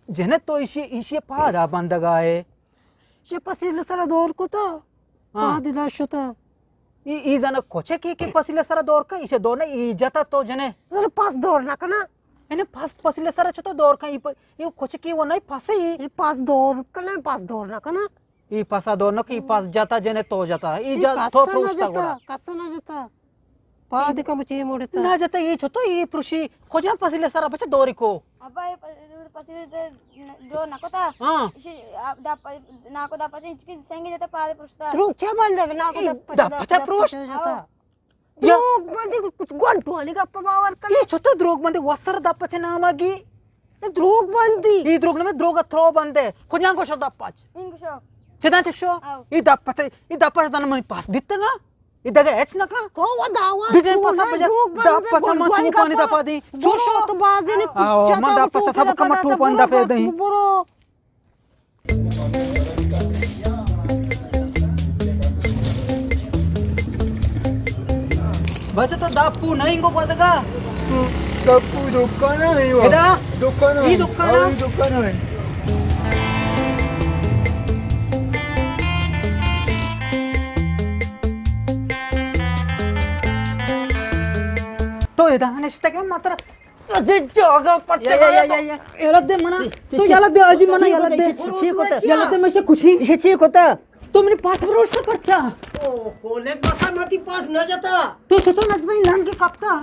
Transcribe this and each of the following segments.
جنت تو ایشی، ایشی پادا بندگا ہے۔ شے پسیل سر دور کتا۔ ہاں۔ پاد دا شتا۔ ای، ای زن کچکی کہ پسیل سر دور کا، ایشی دور نہ، ای جتا تو جنے۔ زن پس دور نہ کنا۔ یعنی پس، پسیل سر چتو دور کا، ای پ-، ای کچکی وہ نہیں پسی۔ ای پس دور کنا، پس دور نہ کنا۔ ای پسا دور نہ کہ ای پس جتا جنے تو جتا۔ ای ای جا-، کس تو نہ پروشتا جتا، گڑا۔ کس نہ جتا۔ پاد کم چی موڑتا۔ نہ جتا ای چتو ای پروشی۔ کجا پسیل سر بچہ دوری کو۔ ابا، اے پ-، پسیل تے ڈرو نہ کتا۔ ہاں۔ ایشی، آ، دا پ-، ناکو دا پچے ہچ کی سنگی جتا پاد پروشتا۔ تروک چا بندے ناکو اے دا پچے دا دا پچا پروشت؟ پچے جتا۔ ہاں۔ دروگ بندی کچھ گونٹوانی گپ باور کنے۔ اے چتو دروگ بندی وسر دا پچے ناما گی۔ اے دروگ بندی۔ اے دروگ نہ، دروگ ترو بندے۔ کجا گوشو دا پچ؟ انگشو۔ چدا چشو؟ آو۔ اے دا پچے، اے دا پچ دن منی پاس دیتگا۔ ای دگہ ہچ نہ کن۔ تو و دعوا بزن چون پسا ہے، بجا۔ دروگ دا بندے، پچا من گونڈوانی توپانی گپا دپا دیں۔ چون برو شو؟ تو بازی نی آو، کچا من دا تو پچا سب کما توپانی دپا دیں۔ برو۔ بچہ تو داپو نہیں گو گدگا۔ تو داپو دکان ہے وہ۔ ادا؟ دکان ہے۔ ای دکان ہے؟ ہاں، ای دکان ہے۔ تو ادا نشتگے مطلب۔ اجے جاگا پٹے یا، یا، یا، یا، یا۔ یلہ دے منا۔ تو یلہ دے آجی منا، یلہ دے۔ چی کتا؟ یلہ دے مشے کچھی۔ ایشی چی کتا؟ تو منی پاس پروشتا پرچا؟ او، کولک بسا متی پاس نہ جتا۔ تو چطور نہ جتا لنگ کپتا؟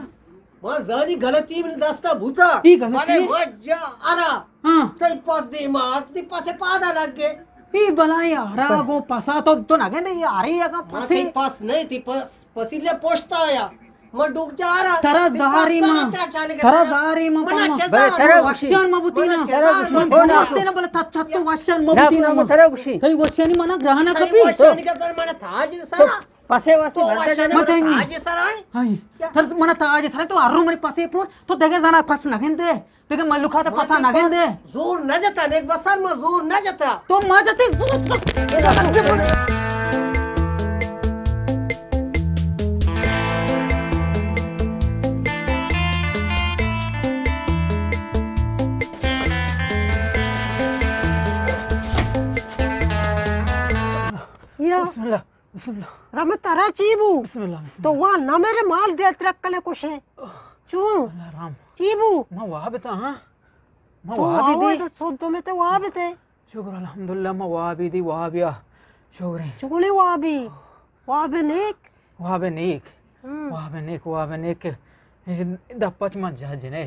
ما زانی غلطی منی دستا بوتا۔ ای غلطی؟ بلے ما جا ارا۔ ہاں۔ تئی پاس دے ما، تئی پاسے پادا لگ گئے۔ ای بلائی ارا گو پسا تو، تو نہ گندے ای ارے اگا ما پسے۔ تئی پاس نہیں، تئی پاس پسیلے پوشتا آیا۔ ما ڈوک جا رہا۔ ترا زہاری ما۔ ترا زہاری ما پاما۔ بلے ترا وشیان ما بوتی نا۔ من بوتے نا بلے تا چت وشیان ما بوتی نا۔ ترا وشی۔ تئی وشیانی منا گرہنا کپی۔ وشیانی کا تر منا تاج سرا۔ پسے واسطے بھرتا جانا۔ مت ہے نہیں۔ تاج سرا ہے۔ ہائی۔ تر منا تاج سرا تو ہر رو منی پسے پرو۔ تو دگہ زنا پس نہ گندے۔ دگہ ملوکات ء پسا نہ گندے۔ زور نہ جتا، نیک بسر ما زور نہ جتا۔ تو ما جتے زور تو۔ یا۔ بسم اللہ۔ بسم اللہ۔ رحمت ترا چی بو؟ بسم اللہ، بسم تو اللہ۔ وان نہ میرے مال دے ترک کنے کشے۔ چون؟ اللہ رحم۔ چی بو؟ ما واب تا، ہاں؟ ما تو واب واب دی۔ تو سود تو میں تے واب تے۔ شکر الحمدللہ، ما واب دی، واب یا۔ شکر۔ چکنے وابی؟ واب نیک؟ واب نیک۔ ہم۔ واب نیک، واب نیک۔ اے دپچ ما جا جنے۔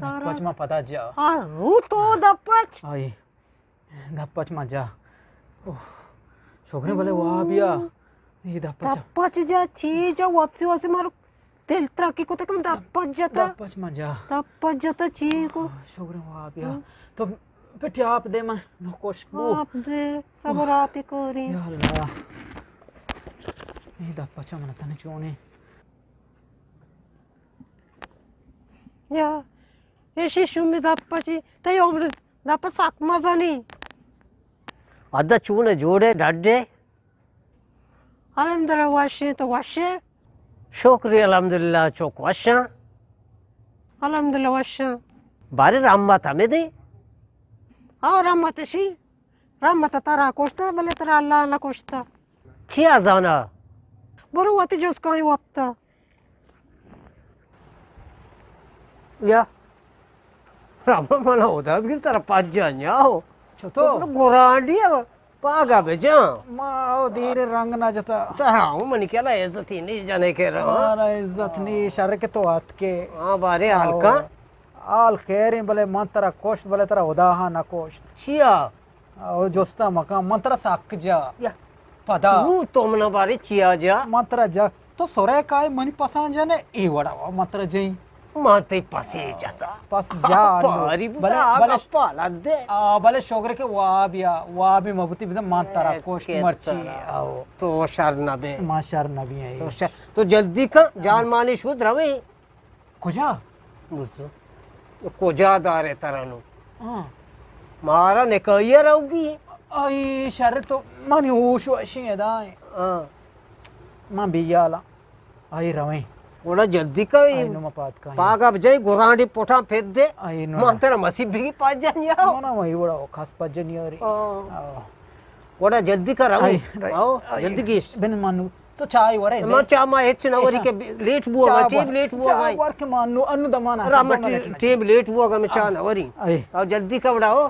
تارا۔ دپچ ما پدا جا۔ آ، رو تو دپچ؟ آئی۔ دپچ ما جا۔ اوہ، شکریں بلے واب یا۔ اے دپچ۔ دپچ جا، چی جا، واپسی واپسی مارو دل ترکی کو تک دپچ جتا۔ دپچ ما جا۔ دپچ جتا، چی کو۔ شکریں واب یا۔ ہم۔ تو پٹی آپ دے من نو کوش بو۔ آپ دے، صبر آپ ہی کوری۔ یا اللہ۔ اے دپچ من تنے چونے۔ یا۔ ایشی شومی دپ پچی، تئی عمر دپ سک مزنی۔ ادا چون جوڑے ڈڈے؟ الحمدللہ وشیں، تو وشے؟ شکری الحمدللہ چوک وشاں۔ الحمدللہ وشاں۔ بارے رحمت ہمیں دے؟ او رحمت شی، رحمت ترا کشتا بلے ترا اللہ نہ کشتا۔ چیا زانا؟ برو وتی جز کائیں وقتا۔ یا رحمت منا خدا بگیر ترا پجا نیا ہو۔ چطور؟ تو گرانڈی ہے، پاگا بجان۔ ما او دیر رنگ نہ جتا۔ ترا ہوں منی کلا عزتی نہیں جانے کے رہا۔ مارا عزت نہیں، شر کے تو آت کے۔ ہاں بارے حال کا۔ حال خیر ہیں، بلے من ترا کوشت، بلے ترا خدا ہاں نہ کوشت۔ چیا؟ او جستا مکان، من ترا سک جا۔ یا۔ پدا۔ نو تو منا بارے چیا جا؟ من ترا جا۔ تو سورے کائے منی پسان جانے، اے وڑا وا من ترا جائیں۔ من تئی پسے جتا۔ پس جا۔ پاری بوتا بلے، آگا بلے، پالا دے۔ آ، بلے شوگر کے واب یا، واب مبتی بزن من ترا اے کوشت مرچی۔ آو۔ تو شر نبے۔ من شر نبی ہے۔ تو شر، تو جلدی کن، جان مانی شود رویں۔ کجا؟ بزو۔ کجا دارے ترانو؟ ہاں۔ مارا نکاحی روگی۔ آئی شر تو منی ہوش وشیں ادا ہیں۔ ہاں۔ من بیالا۔ آئی رویں۔ گڑا جلدی کن۔ آئی نو ما پاد کن۔ پاگا بجائی گرانڈی پٹا پھر دے۔ آئی نو۔ ما ترا مسیب بگی پاجانی آؤ۔ منا وہی وڑا کس پاجانی آ رہی۔ آؤ۔ آؤ۔ گڑا جلدی کر آؤ۔ آئی، رائٹ۔ آؤ، آئی۔ جلدی گیش۔ بن مانو۔ تو چائے ورے ما دے۔ چا ما ہچ نہ وری ایشا۔ کہ لیٹ بوا چا گا، ٹیم ور۔ لیٹ بوا چا گا۔ ور کہ مانو انو دمانا را دو ما منٹ ٹیم۔ لیٹ بوا گا، میں چا آہ۔ نہ وری۔ آئی۔ آؤ جلدی کر وڑا ہو۔